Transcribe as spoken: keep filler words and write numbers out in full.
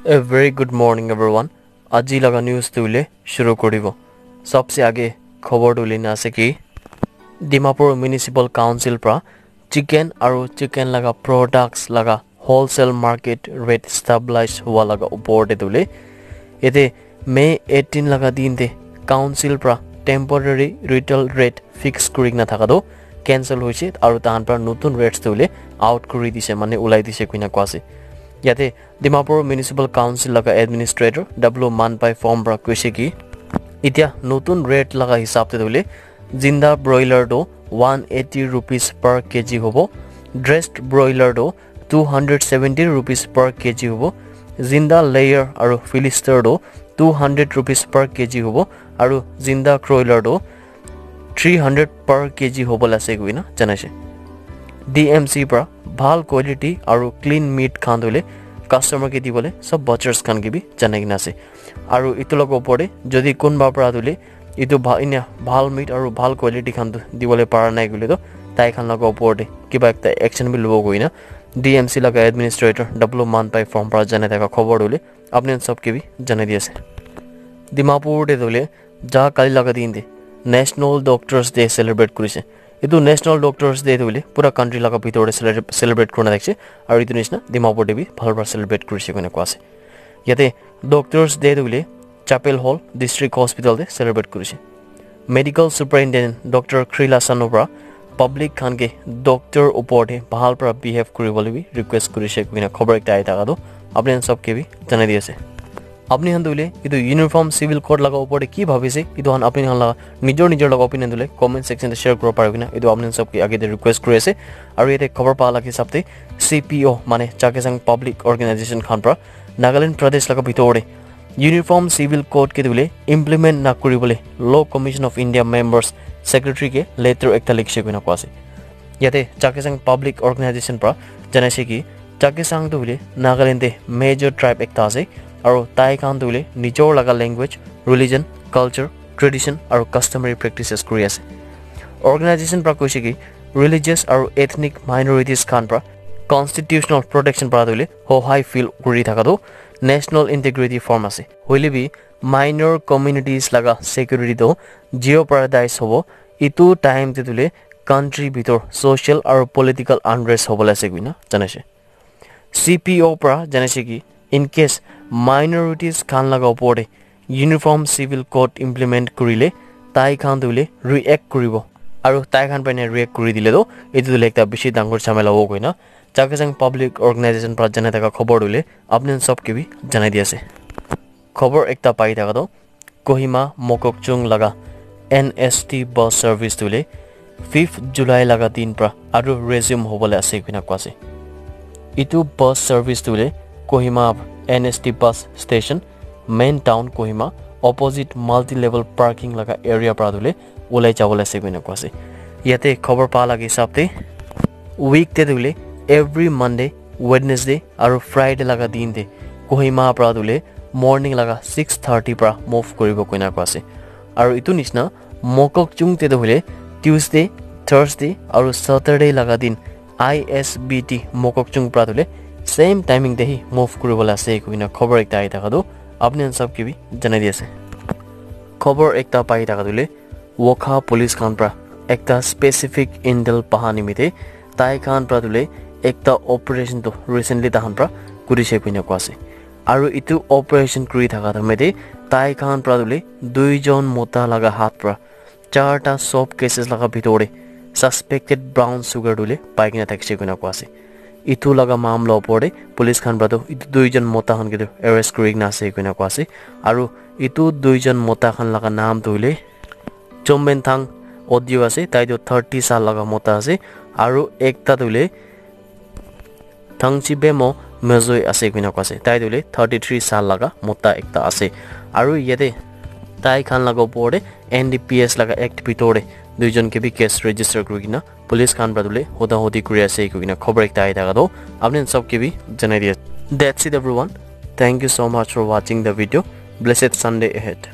A very good morning, everyone. Aji laga news tu le shuru koribo. Sabse aage khobor tu lina ase ki Dimapur Municipal Council pra chicken aru chicken laga products laga wholesale market rate stabilize hua laga upor te tu le yate May eighteen laga din te council pra temporary retail rate fix kuri kena thaka tu cancel hoise aru tahan pra notun rates tu le out kuri dise, mane ulai dise koina koa ase. Yate Dimapur Municipal Council laga administrator W Manpai Phom pra koise ki, itya notun rate laga hisab te tu le zinda broiler tu one eighty rupees per kg hobo, dressed broiler tu two hundred seventy rupees per kg hobo, zinda layer aru fillister tu two hundred rupees per kg hobo, aru zinda croiler tu three hundred per kg hobo la ase koina janaise. D M C pra bhal quality aru clean meat khan tu le customer ke dibole sob butchers khan ke bi janai kena ase. Aru itu laga upor te jodi kunba pra tu le itu bha-, inya bhal meat aru bhal quality khan tu dibole para nai koile tu tai khan laga upor te kiba ekta action bi lobo koina D M C laga administrator W Manpai Phom pra janai thaka khobor tu le apni khan sob ke bi janai di ase. Dimapur te tu le ja kali laga din te National Doctors Day celebrate kurise. Itu National Doctors Day tu hoile pura country laga bitor te cele-, celebrate kurina thakise, aru itu nishina Dimapur te bi bhal para celebrate kurise koina koa ase. Yate Doctors Day tu hoile Chapel Hall District Hospital te celebrate kurise. Medical Superintendent Doctor Khrila Sanu pra public khan ke doctor upor te bhal para behave kuribole bi request kurise koina khobor ekta ahi thaka tu apni khan sob ke bi janai di ase. Apni khan tu hoile itu Uniform Civil Code laga upor te ki bhabi ase, itu khan apni khan laga nijor nijor laga opinion tu hoile comment section te share kuribo paribo koina itu apni khan sob ke age te request kuri ase. Aru yate khobor pa laga hisab te C P O mane Chakhesang Public Organization khan pra Nagaland Pradesh laga bitor te Uniform Civil Code ke tu hoile implement na kuribole Law Commission of India members secretary ke letter ekta likhise koina koa ase. Yate Chakhesang Public Organization pra janaise ki Chakhesang tu hoile Nagaland te major tribe ekta ase aru tai khan tu hoile nijor laga language, religion, culture, tradition aru customary practices kuri ase. Organization pra koise ki religious aru ethnic minorities khan pra constitutional protection pra tu hoile hohai feel kuri thaka tu national integrity form ase. Hoile bi minor communities laga security tu jeopardize hobo. Itu time te tu hoile country bitor social aru political unrest hobole ase koina janaise. C P O pra janaise ki in case minorities khan laga upor te Uniform Civil Code implement kurile tai khan tu hoile react kuribo. Aru tai khan pene react kuri dile tu itu tu hoile ekta bishi dangor jhamela hobo koina Chakhesang Public Organization pra janai thaka khobor tu hoile apni khan sob ke bi janai di ase. Khobor ekta pai thaka tu Kohima Mokokchung laga N S T bus service tu hoile fifth July laga din pra aru resume hobole ase koina koa ase. Itu bus service tu hoile Kohima N S T bus station, main town Kohima, opposite multi-level parking laga area pra tu hoile ulai jabole ase koina koa ase. Yate khobor pa laga hisab te week te tu hoile every Monday, Wednesday aru Friday laga din te Kohima pra tu hoile morning laga six thirty pra move kuribo koina koa ase. Aru itu nishina Mokokchung te tu hoile Tuesday, Thursday aru Saturday laga din I S B T Mokokchung pra tu hoile same timing te hi move kuribole ase koina khobor ekta ahi thaka tu apni khan sob ke bi janai di ase. Khobor ekta pai thaka tu hoile Wokha police khan pra ekta specific intel paha nimite tai khan pra tu hoile ekta operation tu recently tahan pra kurise koina koa ase. Aru itu operation kuri thaka time te tai khan pra tu hoile duijon mota laga hath pra charta soap cases laga bitor te suspected brown sugar tu hoile pai kena thakise koina koa ase. Itu laga mamla opor te police khan pra tu itu duijon mota khan ke tu arrest kuri kena ase koina koa ase. Aru itu duijon mota khan laga naam tu hoile Chomben Thang Audio ase, tai tu thirty saal laga mota ase, aru ekta tu hoile Thangchi Bemo Mezoi ase koina koa ase, tai tu hoile thirty three saal laga mota ekta ase, aru yate tai khan laga opor te N D P S laga act bitor te duijon ke bi case register kuri kena police khan pra tu hoile hoda hodi kuri ase koina khobor ekta ahi thaka tu apni khan sob ke bi janai di ase. That's it everyone. Thank you so much for watching the video. Blessed Sunday ahead.